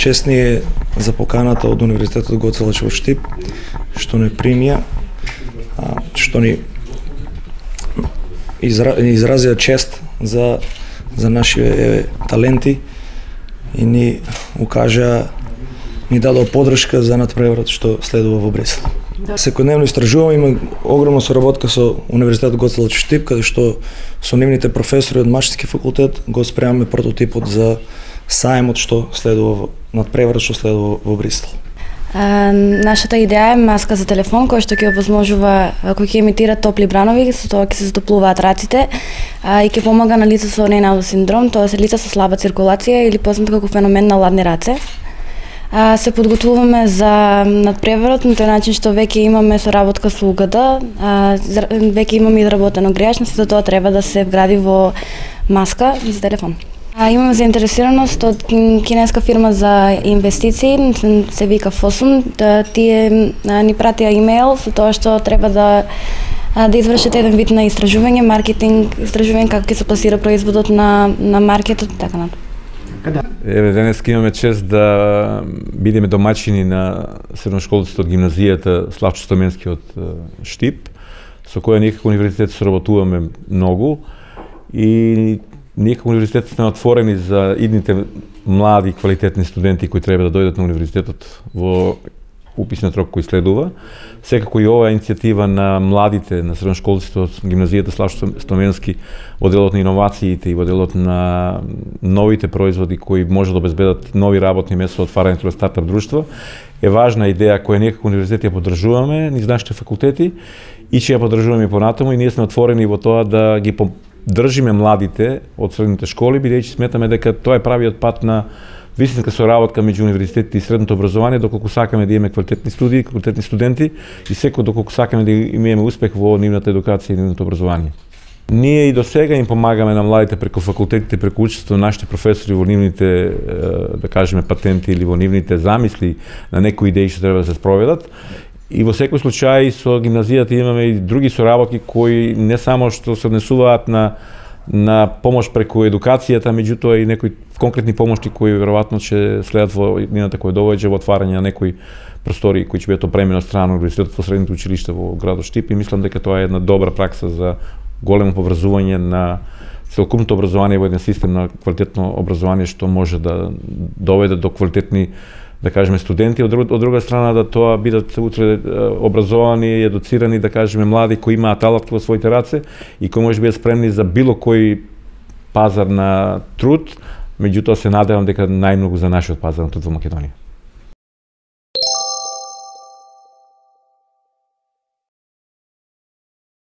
Чест ни е за поканата од Универзитетот Гоце Делчев во Штип, што не примија, што ни изразија чест за нашите таленти и ни укажа, ни дадоа поддршка за надпреварот што следува во Бресел. Секојдневно истражуваме, има огромна соработка со Универзитетот Гоце Делчев Штип, каде што со нивните професори од Машински факултет го спремаме прототипот за сајмот што следува надпреварот што следува во Брисел. Нашата идеја е маска за телефон која што ќе овозможува, кој ќе емитира топли бранови, со тоа ќе се затоплуваат раците и ќе помага на лица со Рейнаудов синдром, тоа се лица со слаба циркулација или познато како феномен на ладни раце. Се подготвуваме за надпреварот на тој начин што веќе имаме соработка со УГД, веќе имаме изработено грејач, но сето тоа треба да се вгради во маска за телефон. Имаме заинтересираност од кинеска фирма за инвестиции, се вика Fosun, тие ни пратија имејл со тоа што треба да извршат еден вид на истражување, маркетинг, истражување како ќе се пласира производот на маркетот, така натаму. Еве, денес имаме чест да бидеме домаќини на средношколците од гимназијата Славчо Стоменски од Штип, со која ние како универзитет соработуваме многу и ние како универзитет сме отворени за идните млади квалитетни студенти кои треба да дојдат на универзитетот во уписниот рок кој следува. Секако и оваа иницијатива на младите, на средношколците од гимназијата Славчо Стоменски во делот на иновациите и во делот на новите производи кои може да обезбедат нови работни места, отварањето на стартап друштва, е важна идеја која ние како универзитет ја поддржуваме низ нашите факултети и ќе ја поддржуваме и понатаму и ние сме отворени во тоа да ги држиме младите од средните школи, бидејќи сметаме дека тоа е правиот пат на вистинска соработка меѓу универзитетите и средното образование, доколку сакаме да имаме квалитетни студии, квалитетни студенти и секој доколку сакаме да имаме успех во нивната едукација и нивното образование. Ние и до сега им помагаме на младите преку факултетите, преку учество на нашите професори во нивните, да кажеме, патенти или во нивните замисли на некои идеи што треба да се спроведат. И во секој случај со гимназијата имаме и други соработки кои не само што се однесуваат на помош преку едукацијата, меѓутоа и некои конкретни помошти кои веројатно ќе следат во иднината која доаѓа во отварање на некои простори кои ќе бидат опремени од страна на универзитетот во средните училишта во градот Штип и мислам дека тоа е една добра пракса за големо поврзување на целокупното образование во еден систем на квалитетно образование што може да доведе до квалитетни, да кажеме, студенти, од друга страна да тоа бидат утре образовани и едуцирани, да кажеме, млади кои имаат алатки во своите раце и кои може бидат спремни за било кој пазар на труд, меѓутоа се надевам дека најмногу за нашиот пазар на труд во Македонија.